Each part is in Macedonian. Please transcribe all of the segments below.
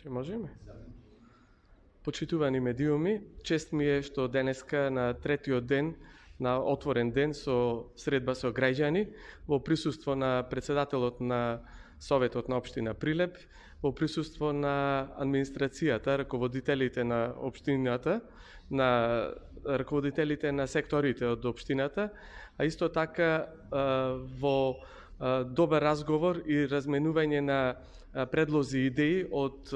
Че можеме? Почитувани медиуми, чест ми е што денеска на третиот ден на отворен ден со средба со граѓани, во присуство на председателот на Советот на општина Прилеп, во присуство на администрацијата, раководителите на општината, на раководителите на секторите од општината, а исто така во добар разговор и разменување на предлози и идеи од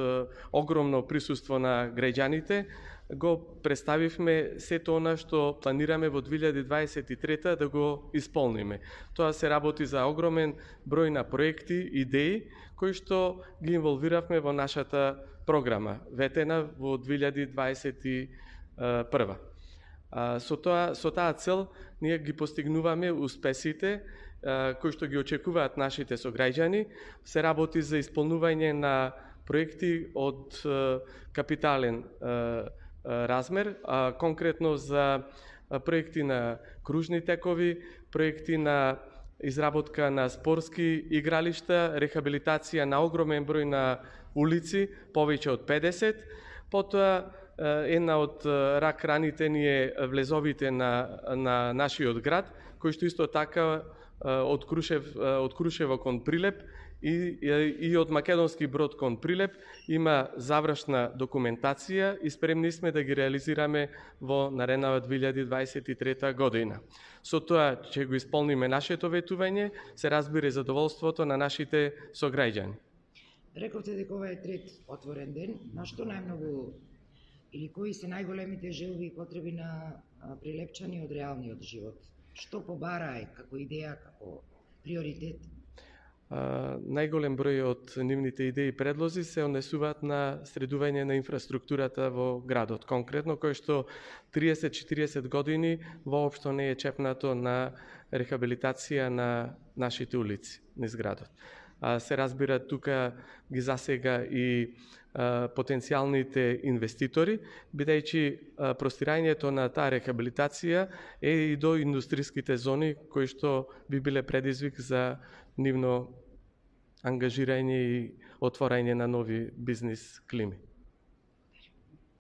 огромно присуство на граѓаните, го представивме сето она што планираме во 2023 да го исполниме. Тоа се работи за огромен број на проекти, идеи, кои што ги инволвиравме во нашата програма, ветена во 2021. Со таа цел ние ги постигнуваме успесите кои што ги очекуваат нашите сограѓани. Се работи за исполнување на проекти од капитален размер, конкретно за проекти на кружни текови, проекти на изработка на спортски игралишта, рехабилитација на огромен број на улици, повеќе од 50, потоа една од рак раните ни е влезовите на нашиот град, кој што исто така од Крушево кон Прилеп и од Македонски Брод кон Прилеп има завршна документација и спремни сме да ги реализираме во наредната 2023 година. Со тоа ќе го исполниме нашето ветување, се разбира задоволството на нашите сограѓани. Рековте дека ова е трет отворен ден, на што најмногу или кои се најголемите желби и потреби на прилепчани од реалниот живот? Што побараа како идеја, како приоритет? Најголем број од нивните идеи и предлози се однесуваат на средување на инфраструктурата во градот. Конкретно, кој што 30-40 години воопшто не е чепнато на рехабилитација на нашите улици низ градот. Се разбира, тука ги засега и потенцијалните инвеститори, бидејќи простирањето на таа рехабилитација е и до индустриските зони, кои што би биле предизвик за нивно ангажирање и отворање на нови бизнис клими.